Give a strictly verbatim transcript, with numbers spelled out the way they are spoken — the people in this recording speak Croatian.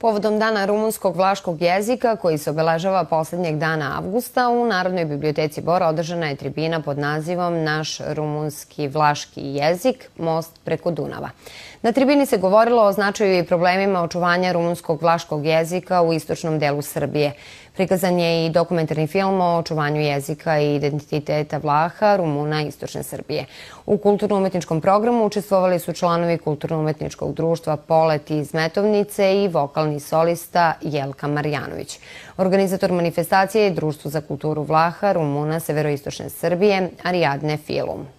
Povodom Dana rumunskog vlaškog jezika, koji se obeležava poslednjeg dana avgusta, u Narodnoj biblioteci Bor održana je tribina pod nazivom Naš rumunski vlaški jezik, most preko Dunava. Na tribini se govorilo o značaju i problemima očuvanja rumunskog vlaškog jezika u istočnom delu Srbije. Prikazan je i dokumentarni film o očuvanju jezika i identiteta Vlaha, Rumuna istočne Srbije. U kulturno-umetničkom programu učestvovali su članovi Kulturno-umetničkog društva Polet iz Metovnice i vokalni solista Jelka Marjanović. Organizator manifestacije je Društvo za kulturu Vlaha, Rumuna severoistočne Srbije, Ariadne Filum.